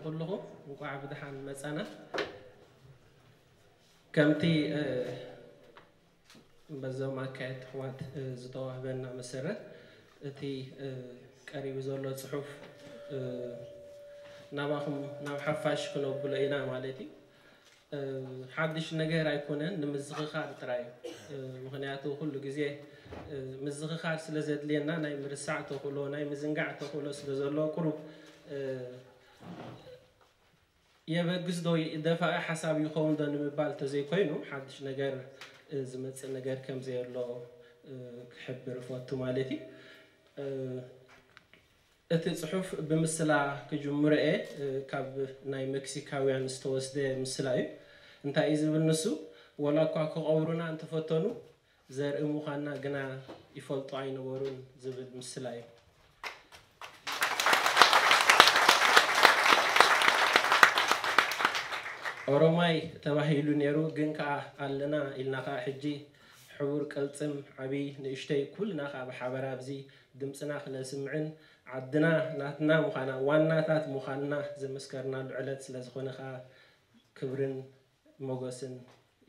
ኩልኹም እንቋዕ ብደሓን መጻና። ከምቲ በዞም ኣካየድቲ ኣሕዋት ዝተዋህበና መሰረት፣ እቲ ቀሪቡ ዘሎ ጽሑፍ ናባኹም ናብ ሓፋሽ ክነብሎ ኢና ማለት እዩ። ሓድሽ ነገር ኣይኮነን፣ ንምዝኽኻር ጥራይ እዩ። ምኽንያቱ ኩሉ ግዜ ምዝኽኻር ስለ ዘድልየና፣ ናይ ምርሳዕ ተኽእሎ፣ ናይ ምዝንጋዕ ተኽእሎ ስለ ዘሎ፣ ቁሩብ የበግስ ዶ ይደፋእ ሓሳብ ይኸውን ዶ ንምባል ተዘይኮይኑ፣ ሓድሽ ነገር ዝመጽእ ነገር ከም ዘየሎ ክሕብር እፈቱ ማለት እዩ። እቲ ጽሑፍ ብምስላ ክጅምሮ እየ። ካብ ናይ መክሲካውያን ዝተወስደ ምስላ እዩ። እንታይ እዩ ዝብል ንሱ? "ወላ እኳ ክቐብሩና እንተፈተኑ፣ ዘርኢ ምዃንና ግና ይፈልጡ ኣይነበሩን" ዝብል ምስላ እዩ። ኦሮማይ ተባሂሉ ነይሩ፣ ግን ከኣ ኣለና ኢልና ከኣ ሕጂ፣ ሕቡር ቅልጽም፣ ዓቢ ንእሽተይ፣ ኩልና ከኣ ብሓበራ ኣብዚ ድምጽና ክነስምዕን ዓድና ናትና ምዃና፣ ዋናታት ምዃንና ዘመስከርናሉ ዕለት ስለ ዝኾነ ከኣ ክብርን ሞገስን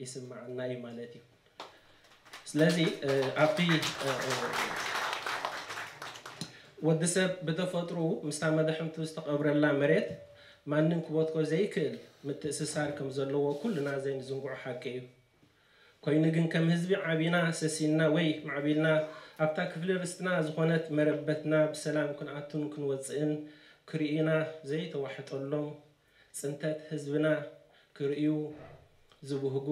ይስምዓና እዩ ማለት እዩ። ስለዚ ኣብቲ ወዲ ሰብ ብተፈጥሩ ምስታ መዳሕንቱ ዝተቐብረላ መሬት ማንም ክበትኮ ዘይክእል ምትእስሳር ከም ዘለዎ ኩልና ዘይንዝንግዖ ሓቂ እዩ። ኮይኑ ግን ከም ህዝቢ ዓቢና ሰሲንና ወይ ማዕቢልና ኣብታ ክፍሊ ርስትና ዝኾነት መረበትና ብሰላም ክንኣቱን ክንወፅእን ክርእዩና ዘይተዋሕጠሎም፣ ፅንተት ህዝብና ክርእዩ ዝብህጉ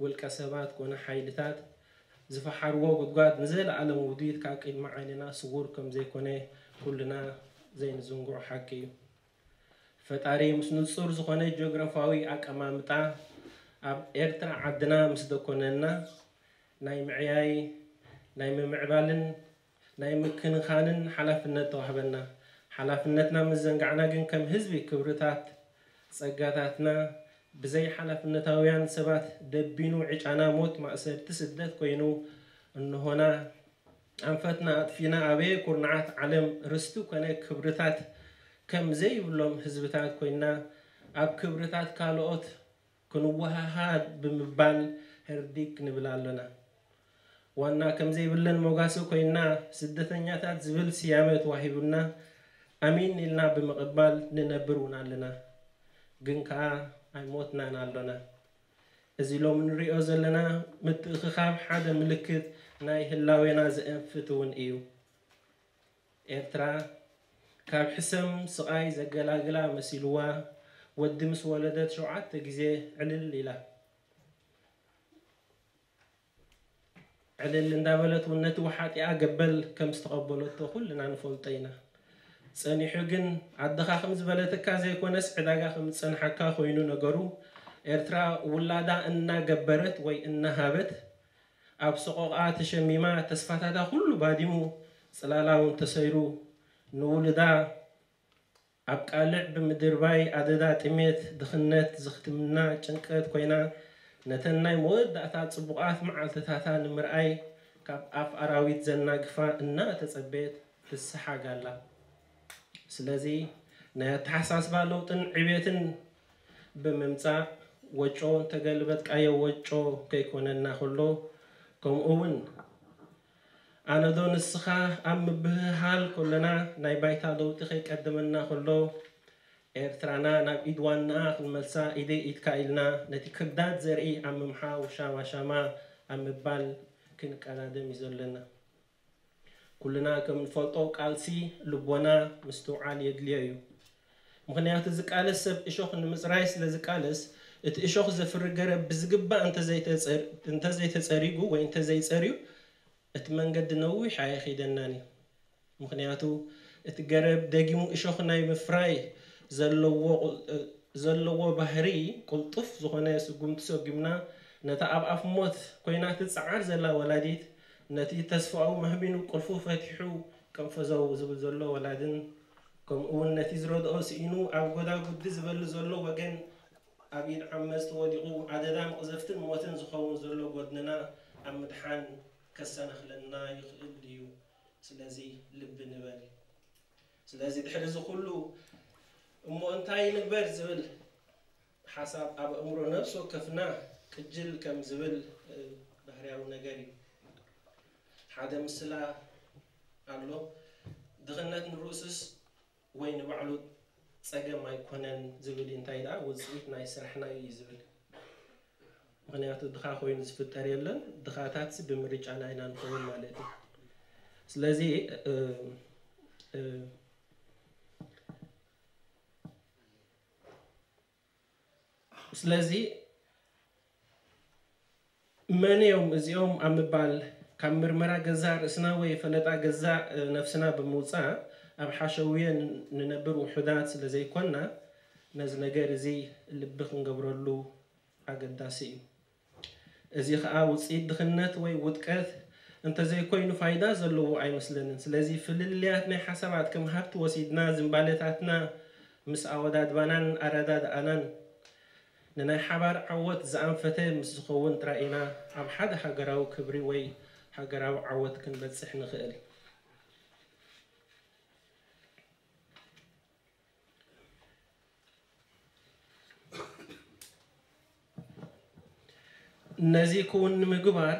ውልቀ ሰባት ኮነ ሓይልታት ዝፈሓርዎ ጉድጓድ ንዘለኣለም ውዲት ካብ ቅድሚ ዓይንና ስውር ከም ዘይኮነ ኩልና ዘይንዝንግዖ ሓቂ እዩ። ፈጣሪ ምስ ንጹር ዝኾነ ጂኦግራፋዊ ኣቀማምጣ ኣብ ኤርትራ ዓድና ምስ ደኮነና ናይ ምዕያይ፣ ናይ ምምዕባልን ናይ ምክንኻንን ሓላፍነት ተዋህበና። ሓላፍነትና ምስ ዘንጋዕና ግን ከም ህዝቢ ክብርታት ጸጋታትና ብዘይ ሓላፍነታውያን ሰባት ደቢኑ ዕጫና ሞት፣ ማእሰርቲ፣ ስደት ኮይኑ እንሆና ኣንፈትና ኣጥፊና ኣበየ ኩርናዓት ዓለም ርስቲ ኮነ ክብርታት ከም ዘይብሎም ህዝብታት ኮይና ኣብ ክብርታት ካልኦት ክንወሃሃድ ብምባል ህርዲግ ንብል ኣሎና። ዋና ከም ዘይብለን ሞጋሲ ኮይና ስደተኛታት ዝብል ስያመ ተዋሂቡና ኣሚን ኢልና ብምቕባል ንነብር እውን ኣለና። ግን ከኣ ኣይሞትናን ኣሎና። እዚ ሎሚ ንሪኦ ዘለና ምትእኽኻብ ሓደ ምልክት ናይ ህላዌና ዘእንፍት እውን እዩ። ኤርትራ ካብ ሕሰም ስቓይ ዘገላግላ መሲልዋ ወዲ ምስ ወለደት ሸውዓተ ግዜ ዕልል ኢላ። ዕልል እንዳበለት እውን ነቲ ውሓጢኣ ገበል ከም ዝተቐበለቶ ኩልና ንፈልጦ ኢና። ጸኒሑ ግን ዓድኻ ከም ዝበለትካ ዘይኮነስ ዕዳጋ ከም ዝጸንሓካ ኮይኑ ነገሩ። ኤርትራ ውላዳ እናገበረት ወይ እናሃበት ኣብ ሰቆቓ ተሸሚማ ተስፋታታ ኩሉ ባዲሙ ጽላላ እውን ተሰይሩ ንውሉዳ ኣብ ቃልዕ ብምድርባይ ኣደዳ ጥሜት፣ ድኽነት፣ ዝኽትምና ጭንቀት ኮይና ነተን ናይ መወዳእታ ጽቡቓት መዓልትታታ ንምርኣይ ካብ ኣፍ ኣራዊት ዘናግፋ እናተጸበየት ትሰሓግ ኣላ። ስለዚ ናይ ኣተሓሳስባ ለውጥን ዕቤትን ብምምጻእ ወጮ እንተገልበጥካዮ ወጮ ከይኮነና ከሎ ከምኡ እውን ኣነ ዶ ንስኻ ኣብ ምብህሃል ከለና ናይ ባይታ ለውጢ ከይቀደመና ከሎ ኤርትራና ናብ ኢድ ዋናኣ ክንመልሳ ኢደይ ኢድካ ኢልና ነቲ ክርዳድ ዘርኢ ኣብ ምምሓው ሻማ ሻማ ኣብ ምባል ክንቀዳደም እዩ ዘለና። ኩልና ከም ንፈልጦ ቃልሲ ልቦና ምስትውዓል የድልዮ እዩ። ምኽንያቱ ዝቃለስ ሰብ እሾኽ ንምጽራይ ስለ ዝቃለስ እቲ እሾኽ ዘፍሪ ገረብ ብዝግባእ እንተዘይተጸሪጉ ወይ እንተዘይጸርዩ እቲ መንገዲ ነዊሕ ኣየኺደናን እዩ። ምኽንያቱ እቲ ገረብ ደጊሙ እሾኽ ናይ ምፍራይ ዘለዎ ባህሪ ቅልጡፍ ዝኾነ ስጉምቲ ሰጉምና ነታ ኣብ ኣፍ ሞት ኮይና ትጽዓር ዘላ ወላዲት ነቲ ተስፋኡ መህሚኑ ቁልፉ ፈቲሑ ቀንፈዘው ዝብል ዘሎ ወላድን ከምኡ እውን ነቲ ዝረድኦ ስኢኑ ኣብ ጎዳጉዲ ዝበሊ ዘሎ ወገን ኣብ ኢድ ዓመጽቲ ወዲቑ ኣደዳ መቕዘፍትን ሞትን ዝኸውን ዘሎ ጎድንና ኣብ ምድሓን ከሰናኽለና ይኽእል ድዩ? ስለዚ ልቢ ንበል። ስለዚ ድሕሪ እዚ ኩሉ እሞ እንታይ ንግበር ዝብል ሓሳብ ኣብ ኣእምሮ ነፍሲ ወከፍና ቅጅል ከም ዝብል፣ እ፣ ባህርያዊ ነገር እዩ። ሓደ ምስላ ኣሎ፣ ድኽነት ንርእሱስ ወይ ንባዕሉ ጸገም ኣይኮነን ዝብል እዩ። እንታይ ደኣ ውጽኢት ናይ ስራሕና እዩ ዝብል። ምኽንያቱ ድኻ ኮይኑ ዝፍጠር የለን፣ ድኻታትሲ ብምርጫና ኢና ንኸውን ማለት እዩ። ስለዚ፣ እ፣ እ፣ ስለዚ መን እዮም እዚኦም ኣብ ምባል፣ ካብ ምርመራ ገዛእ ርእስና ወይ ፈለጣ ገዛእ ነፍስና ብምውጻእ ኣብ ሓሸውየ ንነብር ውሑዳት ስለ ዘይኮንና፣ ነዚ ነገር እዚ ልቢ ክንገብረሉ ኣገዳሲ እዩ። እዚ ኸኣ ውጽኢት ድኽነት ወይ ውድቀት እንተዘይኮይኑ ፋይዳ ዘለዎ ኣይመስለንን። ስለዚ ፍልልያት ናይ ሓሳባት ከም ሃብቲ ወሲድና ዝንባለታትና ምስ ኣወዳድባናን ኣረዳድኣናን ንናይ ሓባር ዓወት ዝኣንፈተ ምስ ዝኸውን ጥራይ ኢና ኣብ ሓደ ሃገራዊ ክብሪ ወይ ሃገራዊ ዓወት ክንበጽሕ ንኽእል። ነዚ ክውን ንምግባር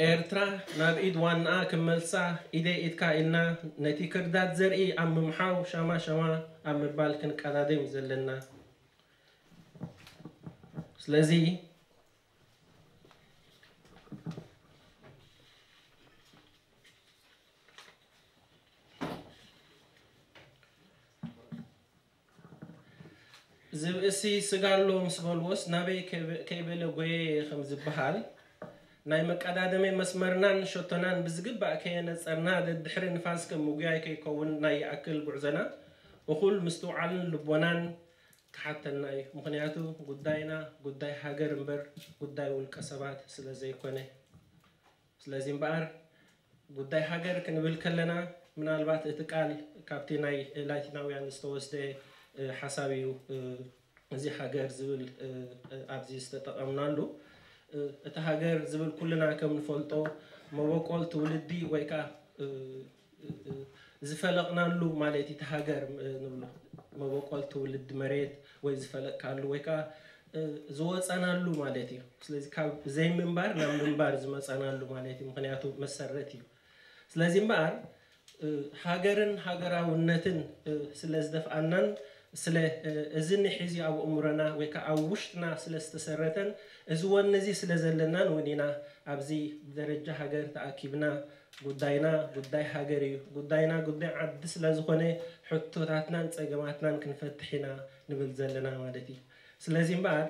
ኤርትራ ናብ ኢድ ዋናኣ ክመልሳ ኢደይ ኢድካ ኢልና ነቲ ክርዳድ ዘርኢ ኣብ ምምሓው ሸማ ሸማ ኣብ ምባል ክንቀዳደም እዩ ዘለና። ስለዚ ዝብእሲ ስጋ ኣሎ ምስ በልዎስ ናበይ ከይበ-፣ ከይበለ ጎየየ ከም ዝበሃል፣ ናይ መቀዳደሚ መስመርናን ሸቶናን ብዝግባእ ከየነጸርና ደድሕሪ ንፋስ ከም ምጉያይ ከይከውን ናይ ይኣክል ጉዕዞና እኹል ምስትውዓልን ልቦናን ክሓተና እዩ። ምኽንያቱ ጉዳይና ጉዳይ ሃገር እምበር ጉዳይ ውልቀ ሰባት ስለ ዘይኮነ። ስለዚ እምበኣር ጉዳይ ሃገር ክንብል ከለና ምናልባት እቲ ቃል ካብቲ ናይ ላቲናውያን ዝተወስደ፣ እ፣ ሓሳብ እዩ። እ፣ እዚ ሃገር ዝብል፣ እ፣ እ፣ ኣብዚ ዝተጠቐምናሉ፣ እ፣ እቲ ሃገር ዝብል ኩልና ከም ንፈልጦ መበቆል ትውልዲ ወይ ከዓ፣ እ፣ እ፣ እ፣ ዝፈለቕናሉ ማለት እዩ። እቲ ሃገር፣ እ፣ ንብሎ መበቆል ትውልዲ መሬት ወይ ዝፈለቕካሉ ወይ ከዓ፣ እ፣ ዝወፀናሉ ማለት እዩ። ስለዚ ካብ ዘይምንባር ናብ ምንባር ዝመፀናሉ ማለት እዩ። ምኽንያቱ መሰረት እዩ። ስለዚ እምበኣር፣ እ፣ ሃገርን ሃገራውነትን፣ እ፣ ስለ ዝደፍኣናን ስለ፣ እ፣ እዚ ንሕዚ ኣብ ኣእምሮና ወይ ከዓ ኣብ ውሽጥና ስለ ዝተሰረተን እዚ ወኒ እዚ ስለ ዘለናን እውን ኢና ኣብዚ ብደረጃ ሃገር ተኣኪብና ጉዳይና ጉዳይ ሃገር እዩ፣ ጉዳይና ጉዳይ ዓዲ ስለ ዝኾነ ሕቶታትናን ጸገማትናን ክንፈትሕ ኢና ንብል ዘለና ማለት እዩ። ስለዚ እምበኣር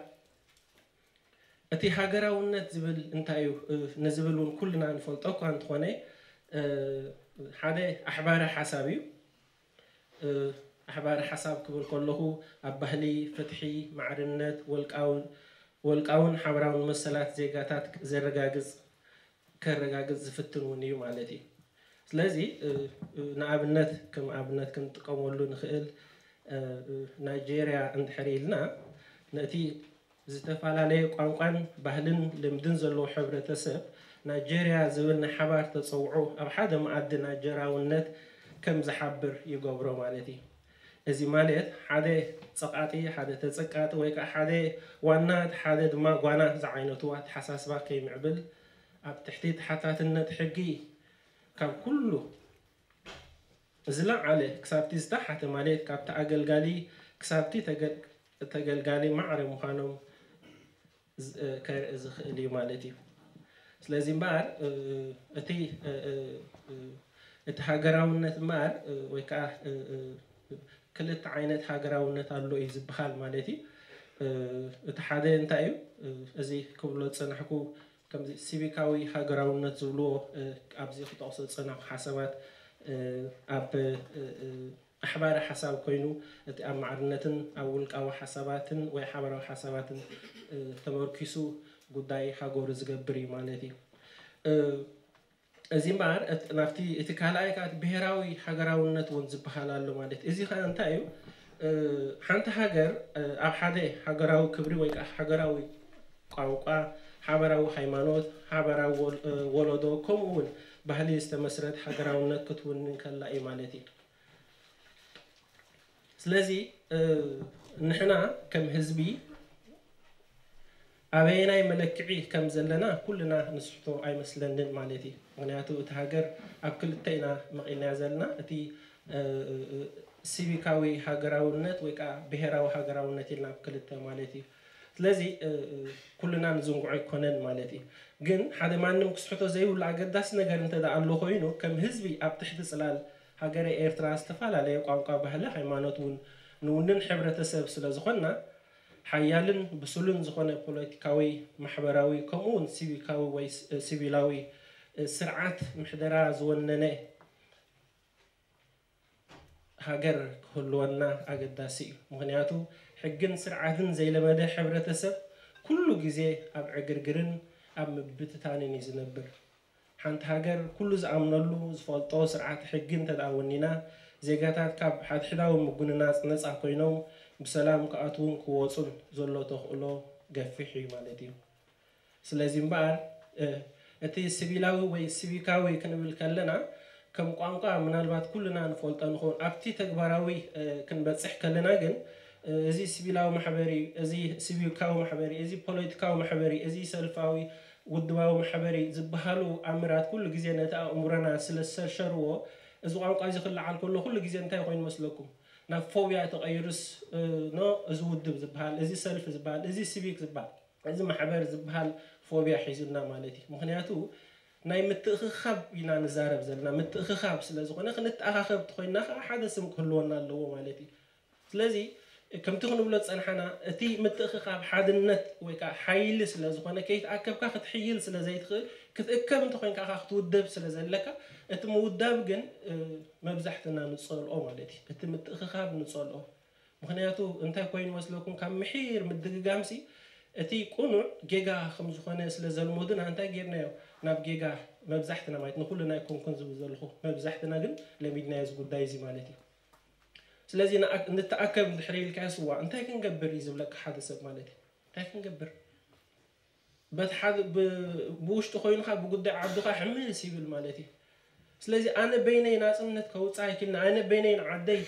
እቲ ሃገራውነት ዝብል እንታይ እዩ፣ እ፣ ንዝብል እውን ኩልና ንፈልጦ እኳ እንተኾነ፣ እ፣ ሓደ ኣሕባሪ ሓሳብ እዩ። እ፣ ኣሕባሪ ሓሳብ ክብል ከለኹ ኣብ ባህሊ፣ ፍትሒ፣ ማዕርነት፣ ወልቃውን፣ ወልቃውን ሓበራውን መሰላት ዜጋታት ዘረጋግጽ፣ ከረጋግጽ ዝፍትን እውን እዩ ማለት እዩ። ስለዚ፣ እ፣ እ፣ ንኣብነት፣ ከም ኣብነት ክንጥቀመሉ ንኽእል፣ እ፣ እ፣ ናይጄርያ እንድሕር ኢልና፣ ነቲ ዝተፈላለየ ቋንቋን ባህልን ልምድን ዘለዎ ሕብረተሰብ ናይጄርያ ዝብል ናይ ሓባር ተጸውዖ ኣብ ሓደ መኣዲ ናይጄርያውነት ከም ዝሓብር ይገብሮ ማለት እዩ። እዚ ማለት ሓደ ጸቓጢ፣ ሓደ ተጸቃጢ ወይ ከዓ ሓደ ዋና፣ እቲ ሓደ ድማ ጓና ዝዓይነቱ ኣተሓሳስባ ከይምዕብል ኣብ ትሕቲ ተሓታትነት ሕጊ ካብ ኩሉ ዝለዓለ ክሳብቲ ዝተሓተ ማለት ካብቲ ኣገልጋሊ ክሳብቲ ተገ-፣ ተገልጋሊ ማዕረ ምዃኖም ዝ-፣ ከርኢ ዝኽእል እዩ ማለት እዩ። ስለዚ እምበኣር፣ እ፣ እቲ፣ እ፣ እ፣ እ፣ እቲ ሃገራውነት እምበኣር፣ እ፣ ወይ ከዓ፣ እ፣ እ፣ ክልተ ዓይነት ሃገራውነት ኣሎ እዩ ዝበሃል ማለት እዩ። እ፣ እቲ ሓደ እንታይ እዩ? እ፣ እዚ ክብሎ ዝጸናሕኩ ከምዚ ሲቪካዊ ሃገራውነት ዝብልዎ፣ እ፣ ኣብዚ ክጠቕሶ ዝጸናሕኩ ሓሳባት፣ እ፣ ኣብ፣ እ፣ እ፣ ኣሕባሪ ሓሳብ ኮይኑ፣ እቲ ኣብ ማዕርነትን ኣብ ውልቃዊ ሓሳባትን ወይ ሓባራዊ ሓሳባትን፣ እ፣ ተመርኪሱ ጉዳይ ሃገሩ ዝገብር እዩ ማለት እዩ። እ፣ እዚ እምበኣር፣ እት-፣ ናብቲ፣ እቲ ካልኣይ ከኣ እቲ ብሄራዊ ሃገራውነት እውን ዝበሃል ኣሎ ማለት እዩ። እዚ ኸኣ እንታይ እዩ? እ፣ ሓንቲ ሃገር፣ እ፣ ኣብ ሓደ ሃገራዊ ክብሪ ወይ ከዓ ሃገራዊ ቋንቋ፣ ሓበራዊ ሃይማኖት፣ ሓበራዊ ወል-፣ እ፣ ወለዶ፣ ከምኡ እውን ባህሊ ዝተመስረት ሃገራውነት ክትውንን ከላ እዩ ማለት እዩ። ስለዚ ንሕና ከም ህዝቢ ኣበየናይ መለክዒ ከም ዘለና ኩልና ንስሕቶ ኣይመስለንን ማለት እዩ። ምክንያቱ እቲ ሃገር ኣብ ክልተ ኢና መቒልናያ ዘለና። እቲ ሲቪካዊ ሃገራውነት ወይ ከዓ ብሄራዊ ሃገራውነት ኢልና ኣብ ክልተ ማለት እዩ። ስለዚ ኩልና ንዝንግዖ ኣይኮነን ማለት እዩ። ግን ሓደ ማንም ክስሕቶ ዘይብሉ ኣገዳሲ ነገር እንተ ደኣ ኣሎ ኮይኑ፣ ከም ህዝቢ ኣብ ትሕቲ ጽላል ሃገረ ኤርትራ ዝተፈላለየ ቋንቋ፣ ባህሊ፣ ሃይማኖት እውን ንውንን ሕብረተሰብ ስለ ዝኾንና፣ ሓያልን ብሱልን ዝኾነ ፖለቲካዊ፣ ማሕበራዊ፣ ከምኡ እውን ሲቪካዊ ወይ ስ-፣ ሲቪላዊ ስርዓት ምሕደራ ዝወነነ ሃገር ክህልወና ኣገዳሲ እዩ። ምኽንያቱ ሕግን ስርዓትን ዘይለመደ ሕብረተሰብ ኩሉ ግዜ ኣብ ዕግርግርን ኣብ ምብትታንን እዩ ዝነብር። ሓንቲ ሃገር ኩሉ ዝኣምነሉ ዝፈልጦ ስርዓት ሕጊ እንተ ደኣ ወኒና፣ ዜጋታት ካብ ሓድሕዳዊ ምጉንናጽ ነጻ ኮይኖም ብሰላም ክኣትዉን ክወጹን ዘሎ ተኽእሎ ገፊሕ እዩ ማለት እዩ። ስለዚ እምበኣር እቲ ሲቪላዊ ወይ ሲቪካዊ ክንብል ከለና ከም ቋንቋ ምናልባት ኩልና ንፈልጦ ንኸውን። ኣብቲ ተግባራዊ ክንበጽሕ ከለና ግን እዚ ሲቪላዊ ማሕበር እዩ፣ እዚ ሲቪካዊ ማሕበር እዩ፣ እዚ ፖለቲካዊ ማሕበር እዩ፣ እዚ ሰልፋዊ ውድባዊ ማሕበር እዩ ዝበሃሉ ኣምራት ኩሉ ግዜ ነቲ ኣእምሮና ስለ ዝሰርሸርዎ፣ እዚ ቋንቋ እዚ ክለዓል ከሎ ኩሉ ግዜ እንታይ ኮይኑ መስለኩም? ናብ ፎብያ ተቐይሩስ፣ ኖ፣ እዚ ውድብ ዝበሃል፣ እዚ ሰልፊ ዝበሃል፣ እዚ ሲቪክ ዝበሃል፣ እዚ ማሕበር ዝበሃል ፎብያ ሒዙና ማለት እዩ። ምኽንያቱ ናይ ምትእኽኻብ ኢና ንዛረብ ዘለና። ምትእኽኻብ ስለ ዝኾነ፣ ክንተኣኻኸብ ተኾይንና ከዓ ሓደ ስም ክህልወና ኣለዎ ማለት እዩ። ስለዚ ከምቲ ክንብሎ ዝጸንሓና፣ እቲ ምትእኽኻብ ሓድነት ወይ ከዓ ሓይሊ ስለ ዝኾነ፣ ከይተኣከብካ ክትሕይል ስለ ዘይትኽእል፣ ክትእከብ እንተኾይንካ ከዓ ክትውደብ ስለ ዘለካ፣ እቲ ምውዳብ ግን መብዛሕትና ንጸልኦ ማለት እዩ። እቲ ምትእኽኻብ ንጸልኦ። ምኽንያቱ እንታይ ኮይኑ መስለኩም? ካብ ምሒር ምድግጋምሲ እቲ ቁኑዕ ጌጋ ከም ዝኾነ ስለ ዘልመዱና እንታይ ጌርናዮ? ናብ ጌጋ መብዛሕትና ማለት ንኹልና ኣይኮንኩን ዝብል ዘለኹ፣ መብዛሕትና ግን ለሚድናዮ እዚ ጉዳይ እዚ ማለት እዩ። ስለዚ ንኣ-፣ ንተኣከብ እንድሕር ኢልካዮ ስዋ እንታይ ክንገብር እዩ ዝብለካ ሓደ ሰብ ማለት እዩ። እንታይ ክንገብር? በቲ ሓደ ብ-፣ ብውሽጢ ኮይኑኻ ብጉዳይ ዓዱኻ ሕምስ ይብል ማለት እዩ። ስለዚ ኣነ በይነይ ናጽነት ከውጽእ ኣይክልን፣ ኣነ በይነይ ንዓደይ፣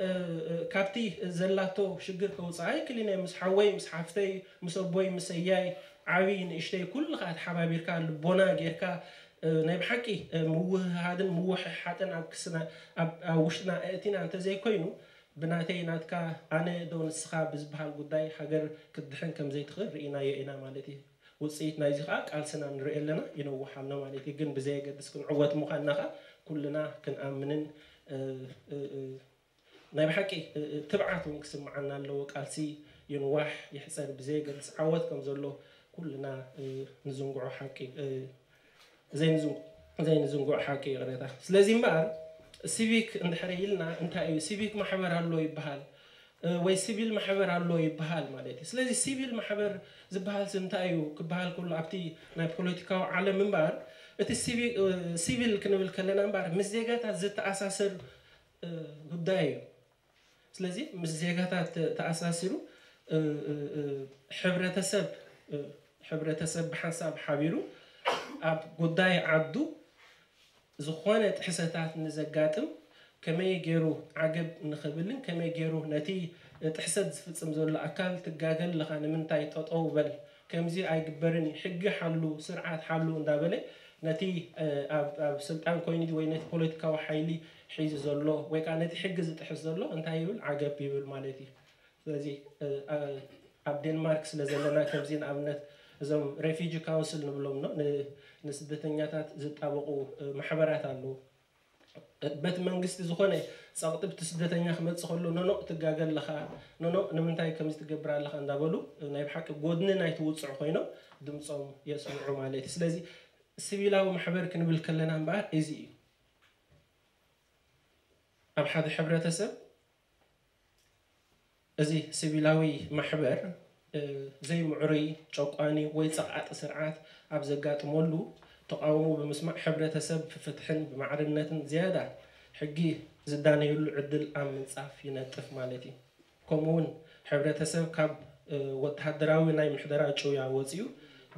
እ፣ እ፣ ካብቲ ዘላቶ ሽግር ከውጽእ ኣይክልን እየ። ምስ ሓወይ፣ ምስ ሓፍተይ፣ ምስ ኣቦይ፣ ምስ ኣያይ፣ ዓብይ ንእሽተይ፣ ኩልኻ ተሓባቢርካ፣ ልቦና ጌርካ፣ እ፣ ናይ ብሓቂ፣ እ፣ ምውህሃድን ምውሕሓጥን ኣብ ክስና-፣ ኣብ፣ ኣብ ውሽጥና ኣእቲና እንተዘይኮይኑ፣ ብናተይ ናትካ፣ ኣነ ዶ ንስኻ ብዝበሃል ጉዳይ ሃገር ክትድሕን ከም ዘይትኽእል ርኢናዮ ኢና ማለት እዩ። ውጽኢት ናይዚ ኸኣ ቃልስና ንርኢ ኣለና፣ ይነውሕ ኣሎ ማለት እዩ። ግን ብዘየገድስ ክንዕወት ምዃንና ኸኣ ኩልና ክንኣምንን፣ እ፣ እ፣ እ፣ ናይ ብሓቂ፣ እ፣ እ፣ ትብዓት እውን ክስምዓና ኣለዎ። ቃልሲ ይንዋሕ ይሕጸር ብዘየገድስ ዓወት ከም ዘሎ ኩልና፣ እ፣ ንዝንግዖ ሓቂ፣ እ፣ ዘይንዝን-፣ ዘይንዝንግዖ ሓቂ፣ ይቕሬታ። ስለዚ እምበኣር ሲቪክ እንድሕር ኢልና እንታይ እዩ? ሲቪክ ማሕበር ኣሎ ይበሃል፣ እ፣ ወይ ሲቪል ማሕበር ኣሎ ይበሃል ማለት እዩ። ስለዚ ሲቪል ማሕበር ዝበሃል ሲ እንታይ እዩ ክበሃል ከሎ ኣብቲ ናይ ፖለቲካዊ ዓለም እምበኣር እቲ ሲቪ-፣ እ፣ ሲቪል ክንብል ከለና እምበኣር ምስ ዜጋታት ዝተኣሳሰር፣ እ፣ ጉዳይ እዩ። ስለዚ ምስ ዜጋታት ተ-፣ ተኣሳሲሩ፣ እ፣ እ፣ እ፣ ሕብረተሰብ፣ እ፣ ሕብረተሰብ ብሓንሳብ ሓቢሩ ኣብ ጉዳይ ዓዱ ዝኾነ ጥሕሰታት ንዘጋጥም ከመይ ገይሩ ዓገብ ንኽብልን ከመይ ገይሩ ነቲ ጥሕሰት ዝፍጽም ዘሎ ኣካል ትጋገ ኣለኻ፣ ንምንታይ ጠጠው በል፣ ከምዚ ኣይግበርን እዩ፣ ሕጊ ሓሉ፣ ስርዓት ሓሉ እንዳበለ ነቲ፣ እ፣ ኣብ፣ ኣብ ስልጣን ኮይኑ ወይ ነቲ ፖለቲካዊ ሓይሊ ሒዙ ዘሎ ወይ ከዓ ነቲ ሕጊ ዝጥሕስ ዘሎ እንታይ ይብል? ዓገብ ይብል ማለት እዩ። ስለዚ፣ እ፣ እ፣ ኣብ ዴንማርክ ስለ ዘለና ከምዚ ንኣብነት እዞም ሬፊጂ ካውንስል ንብሎም ኖ፣ ን-፣ ንስደተኛታት ዝጣበቑ፣ እ፣ ማሕበራት ኣለዉ። በቲ መንግስቲ ዝኾነ ጸቕጢ ብቲ ስደተኛ ክመጽእ ከሎ፣ ኖኖ ትጋገ ኣለኻ፣ ኖኖ ንምንታይ ከምዚ ትገብር ኣለኻ እንዳበሉ ናይ ብሓቂ ጎድኒ ናይቲ ውጽዕ ኮይኖም ድምጾም የስምዑ ማለት እዩ። ስለዚ ሲቪላዊ ማሕበር ክንብል ከለና እምበኣር እዚ እዩ። ኣብ ሓደ ሕብረተሰብ እዚ ሲቪላዊ ማሕበር፣ እ፣ ዘይምዕሩይ፣ ጨቋኒ ወይ ጸቕዓጢ ስርዓት ኣብ ዘጋጥመሉ ተቓውሞ ብምስማዕ ሕብረተሰብ ብፍትሕን ብማዕርነትን ዝያዳ ሕጊ ዝዳነየሉ ዕድል ኣብ ምንጻፍ ይነጥፍ ማለት እዩ። ከምኡ እውን ሕብረተሰብ ካብ፣ እ፣ ወተሃደራዊ ናይ ምሕደራ ጭውያ ወጺኡ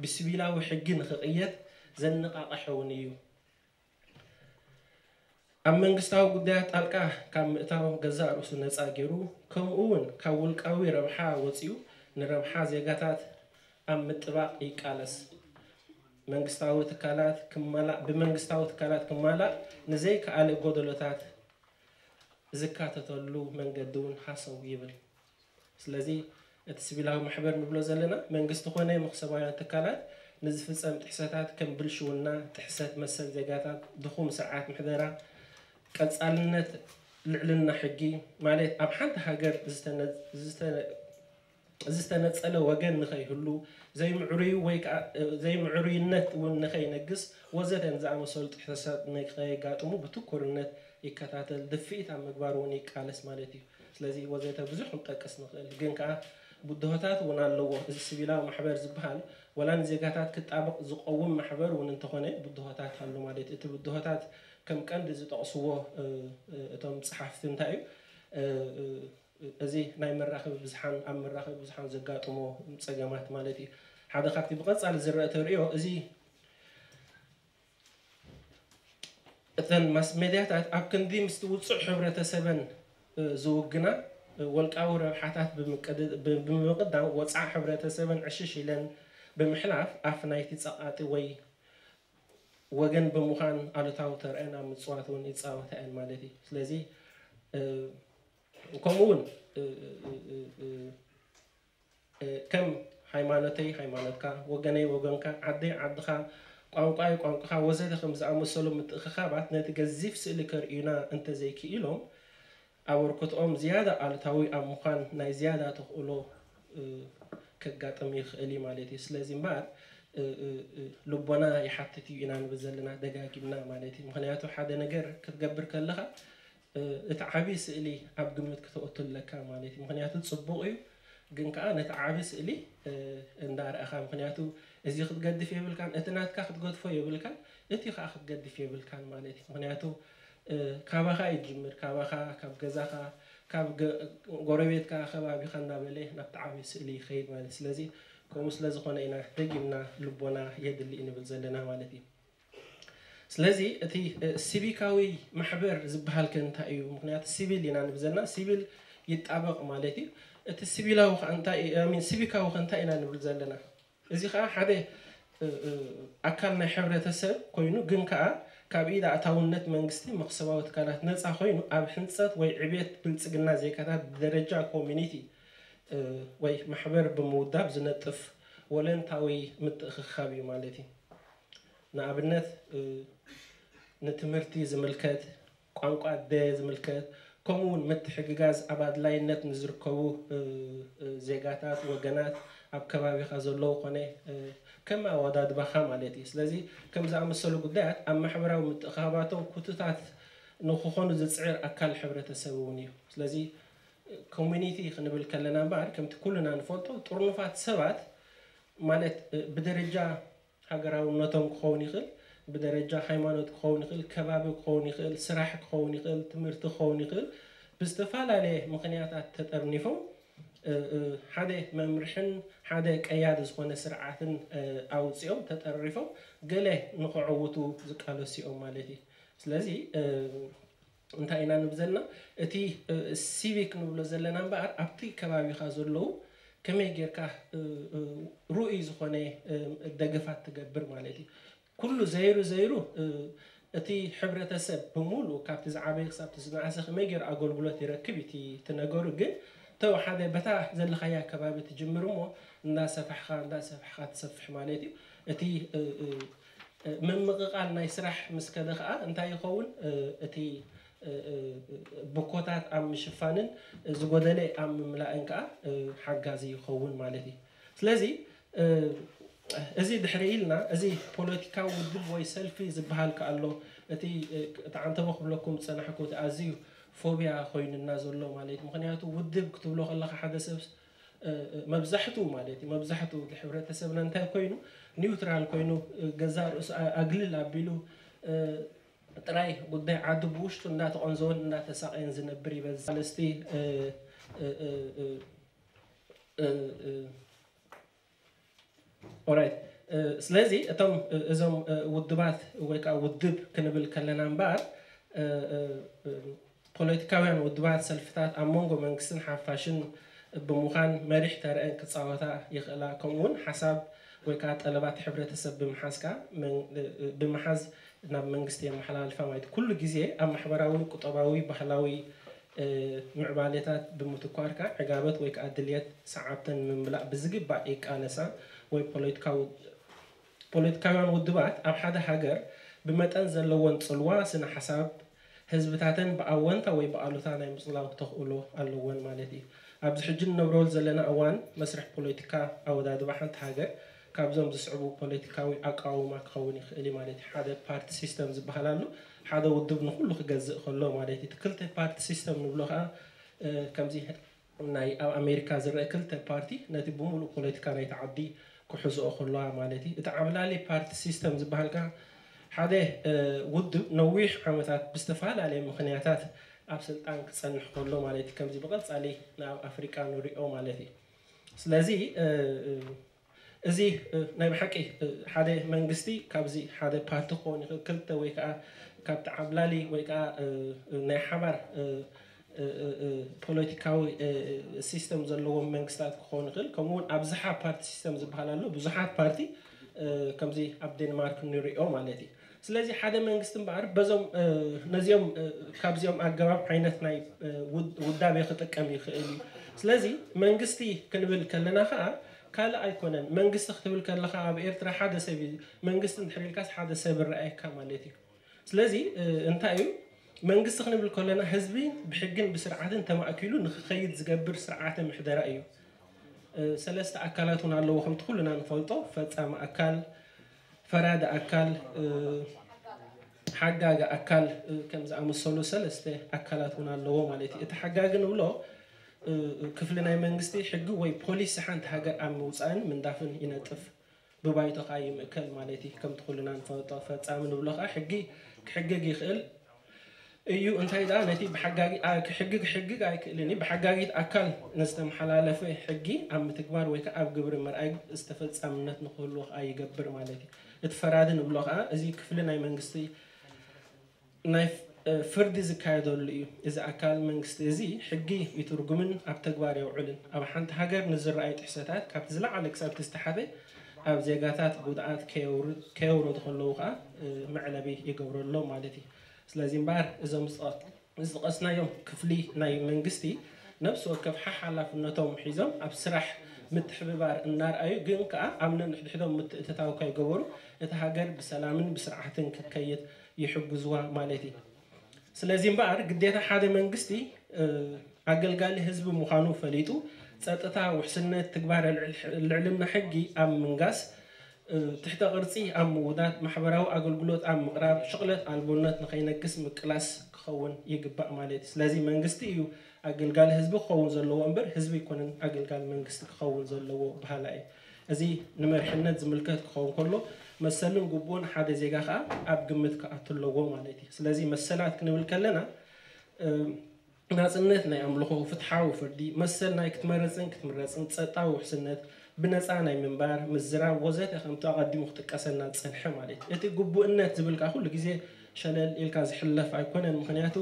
ብሲቪላዊ ሕጊ ንኽቕየድ ዘነቓቕሕ እውን እዩ። ኣብ መንግስታዊ ጉዳያት ጣልቃ ካብ ምእታው ገዛእ ርእሱ ነፃ ገይሩ፣ ከምኡ እውን ካብ ውልቃዊ ረብሓ ወፂኡ ንረብሓ ዜጋታት ኣብ ምጥባቕ ይቃለስ። መንግስታዊ ትካላት ክማላእ፣ ብመንግስታዊ ትካላት ክማላእ ንዘይከኣለ ጎደሎታት ዝካተተሉ መንገዲ እውን ሃሰው ይብል። ስለዚ እቲ ሲቪላዊ ማሕበር ንብሎ ዘለና መንግስቲ ኮነ መኽሰባውያን ትካላት ንዝፍጸም ጥሕሰታት ከም ብልሽውና፣ ጥሕሰት መሰል ዜጋታት፣ ድኹም ስርዓት ምሕደራ፣ ቀጻልነት ልዕልና ሕጊ፣ ማለት ኣብ ሓንቲ ሃገር ዝተነ- ዝተነ- ዝተነጸለ ወገን ንኸይህሉ፣ ዘይምዕሩይ ወይ ከዓ ዘይምዕሩይነት እውን ንኸይነግስ ወዘተን ዝኣመሰሉ ጥሕሰታት ንኸየጋጥሙ ብትኩርነት ይከታተል፣ ድፍኢት ኣብ ምግባር እውን ይቃለስ ማለት እዩ። ስለዚ ወዘተ ብዙሕ ክንጠቅስ ንኽእል፣ ግን ከዓ ብድሆታት እውን ኣለዎ። እዚ ሲቪላዊ ማሕበር ዝበሃል ዋላ ንዜጋታት ክጣበቕ ዝቐውም ማሕበር እውን እንተኾነ ብድሆታት ኣሎ ማለት እዩ። እቲ ብድሆታት ከም ቀንዲ ዝጠቕስዎ እቶም ፀሓፍቲ እንታይ እዩ፣ እዚ ናይ መራኸቢ ብዙሓን፣ ኣብ መራኸቢ ብዙሓን ዘጋጥሞ ፀገማት ማለት እዩ። ሓደ ካብቲ ብቐፃሊ ዝረአ ተርእዮ እዚ እተን ማስ ሜድያታት ኣብ ክንዲ ምስቲ ውፁዕ ሕብረተሰበን ዝውግና ወልቃዊ ረብሓታት ብምምቕዳም ወፃዕ ሕብረተሰበን ዕሽሽ ኢለን ብምሕላፍ ኣፍ ናይቲ ፀቓጢ ወይ ወገን ብምዃን ኣሉታዊ ተርአን ኣብ ምፅዋት እውን ይፃወታ እየን ማለት እዩ። ስለዚ ከምኡ እውን ከም ሃይማኖተይ ሃይማኖትካ፣ ወገነይ ወገንካ፣ ዓደይ ዓድኻ፣ ቋንቋይ ቋንቋኻ ወዘተ ከም ዝኣመሰሉ ምትእኽኻባት ነቲ ገዚፍ ስእሊ ከርእዩና እንተዘይክኢሎም ኣበርክትኦም ዝያዳ ኣሉታዊ ኣብ ምዃን ናይ ዝያዳ ተኽእሎ ከጋጥም ይኽእል እዩ ማለት እዩ። ስለዚ እምበኣር ልቦና ይሓትት እዩ ኢና ንብል ዘለና ደጋጊምና ማለት እዩ። ምኽንያቱ ሓደ ነገር ክትገብር ከለኻ እቲ ዓብዪ ስእሊ ኣብ ግምት ክተእቱ ኣለካ ማለት እዩ። ምኽንያቱ ፅቡቕ እዩ፣ ግን ከዓ ነቲ ዓብዪ ስእሊ እንዳረእኻ፣ ምኽንያቱ እዚ ክትገድፍ የብልካን፣ እቲ ናትካ ክትገድፎ የብልካን፣ እቲ ከዓ ክትገድፍ የብልካን ማለት እዩ። ምኽንያቱ ካባኻ ይጅምር፣ ካባኻ፣ ካብ ገዛኻ፣ ካብ ጎረቤትካ፣ ከባቢኻ እንዳበለ ናብቲ ዓብዪ ስእሊ ይኸይድ ማለት እዩ። ስለዚ ከምኡ ስለ ዝኾነ ኢና ደጊምና ልቦና የድሊ ንብል ዘለና ማለት እዩ። ስለዚ እቲ ሲቪካዊ ማሕበር ዝበሃል ከ እንታይ እዩ? ምክንያቱ ሲቪል ኢና ንብል ዘለና፣ ሲቪል ይጣበቕ ማለት እዩ። እቲ ሲቪላዊ ከ እንታይ፣ ሲቪካዊ ከ እንታይ ኢና ንብል ዘለና? እዚ ከዓ ሓደ ኣካል ናይ ሕብረተሰብ ኮይኑ፣ ግን ከዓ ካብ ኢድ ኣእታውነት መንግስቲ መክሰባዊ ትካላት ነፃ ኮይኑ ኣብ ሕንፀት ወይ ዕቤት ብልፅግና ዜጋታት ብደረጃ ኮሚኒቲ ወይ ማሕበር ብምውዳብ ዝነጥፍ ወለንታዊ ምትእኽኻብ እዩ ማለት እዩ። ንኣብነት ንትምህርቲ ዝምልከት፣ ቋንቋ ኣደ ዝምልከት፣ ከምኡ እውን ምትሕግጋዝ ኣብ ኣድላይነት ንዝርከቡ ዜጋታት፣ ወገናት፣ ኣብ ከባቢኻ ዘለዉ ኮነ ከም ኣወዳድባኻ ማለት እዩ። ስለዚ ከም ዝኣመሰሉ ጉዳያት ኣብ ማሕበራዊ ምትእኽኻባቶም ክቱታት ንክኾኑ ዝፅዕር ኣካል ሕብረተሰብ እውን እዩ። ስለዚ ኮሚኒቲ ክንብል ከለና እምበኣር ከምቲ ኩልና ንፈልጦ ጥርኑፋት ሰባት ማለት ብደረጃ ሃገራውነቶም ክኸውን ይኽእል፣ ብደረጃ ሃይማኖት ክኸውን ይኽእል፣ ከባቢ ክኸውን ይኽእል፣ ስራሕ ክኸውን ይኽእል፣ ትምህርቲ ክኸውን ይኽእል፣ ብዝተፈላለየ ምኽንያታት ተጠርኒፎም ሓደ መምርሕን ሓደ ቀያዲ ዝኾነ ስርዓትን ኣውፂኦም ተጠርሪፎም ገለ ንክዕውቱ ዝቃለሱ እዮም ማለት እዩ። ስለዚ እንታይ ኢና ንብል ዘለና? እቲ ሲቪክ ንብሎ ዘለና እምበኣር ኣብቲ ከባቢኻ ዘለዉ ከመይ ጌርካ ርኡይ ዝኾነ ደገፋት ትገብር ማለት እዩ። ኩሉ ዘይሩ ዘይሩ እቲ ሕብረተሰብ ብምሉእ ካብቲ ዝዓበየ ክሳብ እቲ ዝነኣሰ ከመይ ገይሩ ኣገልግሎት ይረክብ እዩ እቲ ነገሩ። ግን ተው ሓደ በታ ዘለኻያ ከባቢ ትጅምር እሞ እንዳሰፋሕኻ እንዳሰፋሕኻ ትሰፍሕ ማለት እዩ። እቲ ምምቕቓል ናይ ስራሕ ምስ ከደ ከዓ እንታይ ይኸውን? እቲ ብኮታት ኣብ ምሽፋንን ዝጎደለ ኣብ ምምላእን ከዓ ሓጋዚ ይኸውን ማለት እዩ። ስለዚ እዚ ድሕሪ ኢልና እዚ ፖለቲካዊ ውድብ ወይ ሰልፊ ዝበሃል ከ ኣሎ። እቲ እቲ ዓንተቦ ክብለኩም ዝፀናሕኩ እቲ ኣዝዩ ፎብያ ኮይኑና ዘሎ ማለት እዩ። ምክንያቱ ውድብ ክትብሎ ከለካ ሓደ ሰብ መብዛሕትኡ ማለት እዩ መብዛሕትኡ እቲ ሕብረተሰብና እንታይ ኮይኑ ኒውትራል ኮይኑ ገዛ ርእሱ ኣግልል ኣቢሉ ጥራይ ጉዳይ ዓዱ ብውሽጡ እንዳተቆንዘወን እንዳተሳቀየን ዝነብር ይበዝሕ። ኣለስቲ ኦራይት። ስለዚ እቶም እዞም ውድባት ወይ ከዓ ውድብ ክንብል ከለና እምበኣር ፖለቲካውያን ውድባት፣ ሰልፍታት ኣብ መንጎ መንግስትን ሓፋሽን ብምዃን መሪሕ ተረአን ክፃወታ ይኽእላ። ከምኡ እውን ሓሳብ ወይ ከዓ ጠለባት ሕብረተሰብ ብምሓዝ ከዓ መን- ብምሓዝ ናብ መንግስቲ የመሓላልፋ ማለት እዩ። ኩሉ ግዜ ኣብ ማሕበራዊ፣ ቁጠባዊ፣ ባህላዊ ምዕባሌታት ብምትኳር ከዓ ዕጋበት ወይ ከዓ ድልየት ሰዓብተን ንምምላእ ብዝግባእ ይቃለሳ። ወይ ፖለቲካዊ ፖለቲካውያን ውድባት ኣብ ሓደ ሃገር ብመጠን ዘለወን ፅልዋ ስነ ሓሳብ ህዝብታተን ብኣወንታ ወይ ብኣሉታ ናይ ምፅላው ተኽእሎ ኣለወን ማለት እዩ። ኣብዚ ሕጂ ንነብረሉ ዘለና እዋን መስርሕ ፖለቲካ ኣወዳድባ ሓንቲ ሃገር ካብዞም ዝስዕቡ ፖለቲካዊ ኣቃውማ ክኸውን ይኽእል እዩ ማለት እዩ። ሓደ ፓርቲ ሲስተም ዝበሃል ኣሎ። ሓደ ውድብ ንኩሉ ክገዝእ ከሎ ማለት እዩ። እቲ ክልተ ፓርቲ ሲስተም ንብሎ ከዓ ከምዚ ናይ ኣብ ኣሜሪካ ዝረአ ክልተ ፓርቲ ነቲ ብምሉእ ፖለቲካ ናይቲ ዓዲ ክሕዝኦ ከለዋ ማለት እዩ። እቲ ዓብላሊ ፓርቲ ሲስተም ዝበሃል ከዓ ሓደ ውድብ ነዊሕ ዓመታት ብዝተፈላለየ ምክንያታት ኣብ ስልጣን ክፀንሕ ከሎ ማለት እዩ። ከምዚ ብቐፃሊ ናብ ኣፍሪቃ ንሪኦ ማለት እዩ። ስለዚ እዚ ናይ ብሓቂ ሓደ መንግስቲ ካብዚ ሓደ ፓርቲ ክኸውን ይኽእል፣ ክልተ ወይ ከዓ ካብቲ ዓብላሊ ወይ ከዓ ናይ ሓባር ፖለቲካዊ ሲስተም ዘለዎም መንግስታት ክኸውን ይኽእል። ከምኡውን ኣብዝሓ ፓርቲ ሲስተም ዝበሃል ኣሎ። ብዙሓት ፓርቲ ከምዚ ኣብ ዴንማርክ ንሪኦ ማለት እዩ። ስለዚ ሓደ መንግስቲ እምበኣር በዞም ነዚኦም ካብዚኦም ኣገባብ ዓይነት ናይ ውዳቤ ክጥቀም ይኽእል እዩ። ስለዚ መንግስቲ ክንብል ከለና ከዓ ካልእ ኣይኮነን። መንግስቲ ክትብል ከለካ ኣብ ኤርትራ ሓደ ሰብ እዩ። መንግስቲ እንድሕር ኢልካስ ሓደ ሰብ ይረኣየካ ማለት እዩ። ስለዚ እንታይ እዩ መንግስቲ ክንብል ከለና ህዝቢ ብሕግን ብስርዓትን ተማእኪሉ ንክኸይድ ዝገብር ስርዓተ ምሕደራ እዩ። ሰለስተ ኣካላት እውን ኣለዎ ከምቲ ኩልና ንፈልጦ፣ ፈፃሚ ኣካል፣ ፈራዲ ኣካል፣ ሓጋጊ ኣካል ከም ዝኣመሰሉ ሰለስተ ኣካላት እውን ኣለዎ ማለት እዩ። እቲ ሓጋጊ ንብሎ ክፍሊ ናይ መንግስቲ ሕጊ ወይ ፖሊሲ ሓንቲ ሃገር ኣብ ምውፃእን ምንዳፍን ይነጥፍ። ብባይቶ ከዓ ይምእከል ማለት እዩ። ከምቲ ኩልና ንፈልጦ ፈፃሚ ንብሎ ከዓ ሕጊ ክሕግግ ይኽእል እዩ። እንታይ ደኣ ነቲ ብሓጋጊ ክሕግግ ክሕግግ ኣይክእልን እዩ። ብሓጋጊት ኣካል ንዝተመሓላለፈ ሕጊ ኣብ ምትግባር ወይ ከዓ ኣብ ግብሪ ምርኣይ ዝተፈፃምነት ንክህልዎ ከዓ ይገብር ማለት እዩ። እቲ ፈራዲ ንብሎ ከዓ እዚ ክፍሊ ናይ መንግስቲ ናይ ፍርዲ ዝካየደሉ እዩ። እዚ ኣካል መንግስቲ እዚ ሕጊ ይትርጉምን ኣብ ተግባር የውዕልን። ኣብ ሓንቲ ሃገር ንዝረኣዩ ጥሕሰታት ካብቲ ዝለዓለ ክሳብ እቲ ዝተሓተ ኣብ ዜጋታት ጉድኣት ከየውርድ ከለዉ ከዓ መዕለቢ ይገብረሎም ማለት እዩ። ስለዚ እምበኣር እዞም ዝጠቐስናዮም ክፍሊ ናይ መንግስቲ ነብሲ ወከፍ ሓ ሓላፍነቶም ሒዞም ኣብ ስራሕ ምትሕብባር እናርኣዩ ግን ከዓ ኣብ ነንሕድሕዶም ምትእትታው ከይገበሩ እቲ ሃገር ብሰላምን ብስርዓትን ክትከይድ ይሕግዝዋ ማለት እዩ። ስለዚ እምበኣር ግዴታ ሓደ መንግስቲ ኣገልጋሊ ህዝቢ ምዃኑ ፈሊጡ ጸጥታ፣ ውሕስነት፣ ትግባረ ልዕልና ሕጊ ኣብ ምንጋስ ትሕተ ቅርጺ ኣብ ምውዳድ ማሕበራዊ ኣገልግሎት ኣብ ምቕራብ ሽቕለት ኣልቦነት ንኸይነግስ ምቅላስ ክኸውን ይግባእ ማለት እዩ። ስለዚ መንግስቲ እዩ ኣገልጋሊ ህዝቢ ክኸውን ዘለዎ እምበር ህዝቢ ኣይኮነን ኣገልጋሊ መንግስቲ ክኸውን ዘለዎ በሃላይ እየ። እዚ ንመሪሕነት ዝምልከት ክኸውን ከሎ መሰልን ግቡእን ሓደ ዜጋ ከዓ ኣብ ግምት ክኣቱ ኣለዎ ማለት እዩ። ስለዚ መሰላት ክንብል ከለና ናፅነት ናይ ኣምልኾ፣ ፍትሓዊ ፍርዲ፣ መሰል ናይ ክትመርፅን ክትምረፅን፣ ፀጥታዊ ውሕስነት፣ ብነፃ ናይ ምንባር፣ ምዝራብ ወዘተ ከምቲ ኣቐዲሙ ክጥቀሰልና ዝፀንሐ ማለት እዩ። እቲ ግቡእነት ዝብል ከዓ ኩሉ ግዜ ሸለል ኢልካ ዝሕለፍ ኣይኮነን። ምክንያቱ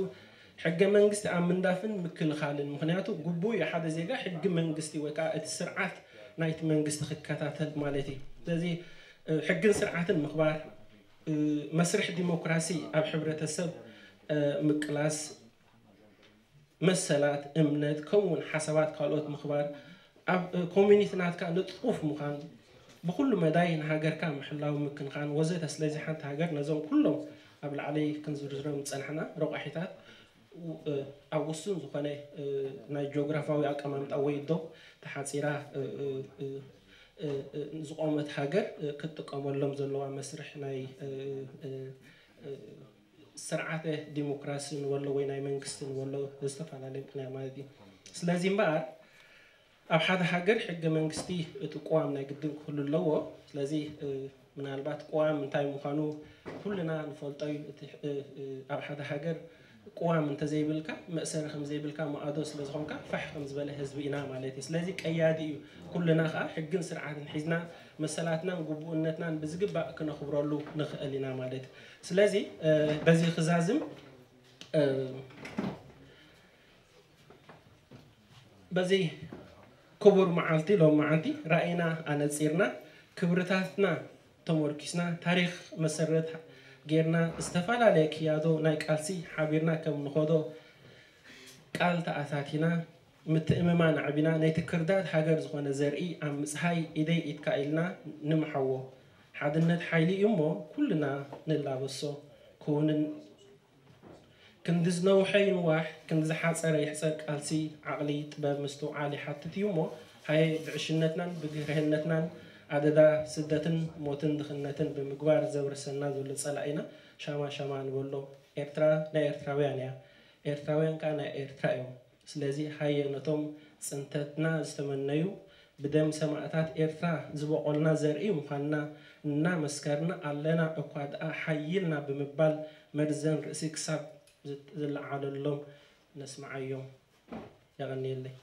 ሕገ መንግስቲ ኣብ ምንዳፍን ምክልኻልን፣ ምክንያቱ ግቡእ እዩ ሓደ ዜጋ ሕጊ መንግስቲ ወይ ከዓ እቲ ስርዓት ናይቲ መንግስቲ ክከታተል ማለት እዩ። ስለዚ ሕግን ስርዓትን ምኽባር፣ መስርሕ ዲሞክራሲ ኣብ ሕብረተሰብ ምቅላስ፣ መሰላት፣ እምነት፣ ከምኡውን ሓሳባት ካልኦት ምኽባር፣ ኣብ ኮሚኒቲ ናትካ ንጡፍ ምዃን፣ ብኹሉ መዳይ ንሃገርካ ምሕላው ምክንኻን ወዘተ። ስለዚ ሓንቲ ሃገር ነዞም ኩሎም ኣብ ላዕሊ ክንዝርዝሮም ዝጸናሕና ረቋሒታት ኣብ ውሱን ዝኾነ ናይ ጂኦግራፋዊ ኣቀማምጣ ወይ ዶብ ተሓጺራ ዝቖመት ሃገር ክትጥቀመሎም ዘለዋ መስርሕ ናይ ስርዓተ ዲሞክራሲ ንበሎ ወይ ናይ መንግስቲ ንበሎ ዝተፈላለየ ምኽንያት ማለት እዩ። ስለዚ እምበኣር ኣብ ሓደ ሃገር ሕገ መንግስቲ እቲ ቅዋም ናይ ግድን ክህሉ ኣለዎ። ስለዚ ምናልባት ቅዋም እንታይ ምዃኑ ኩልና ንፈልጦ እዩ። ኣብ ሓደ ሃገር ቅዋም እንተዘይብልካ መእሰሪ ከምዘይብልካ መኣዶ ስለዝኾንካ ፋሕ ከምዝበለ ህዝቢ ኢና ማለት እዩ። ስለዚ ቀያዲ እዩ። ኩልና ከዓ ሕግን ስርዓትን ሒዝና መሰላትናን ግቡእነትናን ብዝግባእ ክነኽብረሉ ንኽእል ኢና ማለት እዩ። ስለዚ በዚ ክዛዝም በዚ ክቡር መዓልቲ ሎም መዓልቲ ራእይና ኣነፂርና ክብርታትና ተመርኪስና ታሪኽ መሰረት ጌርና ዝተፈላለየ ክያዶ ናይ ቃልሲ ሓቢርና ከም ንኸዶ ቃል ተኣታቲና ምትእምማን ኣዕቢና ነቲ ክርዳድ ሃገር ዝኾነ ዘርኢ ኣብ ምፅሃይ ኢደይ ኢድካ ኢልና ንምሓዎ። ሓድነት ሓይሊ እዩ እሞ ኩልና ንላበሶ። ክውንን ክንዲ ዝነውሐ ይንዋሕ ክንዲ ዝሓፀረ ይሕፀር ቃልሲ ዓቕሊ ጥበብ ምስትውዓል ይሓትት እዩ እሞ ሃየ ብዕሽነትናን ብግህርህነትናን ኣደዳ ስደትን ሞትን ድኽነትን ብምግባር ዘብርሰና ዘሎ ፀላኢና ሻማ ሻማ ንበሎ። ኤርትራ ናይ ኤርትራውያን እያ። ኤርትራውያን ከዓ ናይ ኤርትራ እዮም። ስለዚ ሃየ ነቶም ፅንተትና ዝተመነዩ ብደም ሰማእታት ኤርትራ ዝበቆልና ዘርኢ ምዃንና እናመስከርና ኣለና እኳ ደኣ ሓይልና ብምባል መርዘን ርእሲ ክሳብ ዝለዓለሎም ነስምዓዮም። የቐንየለይ።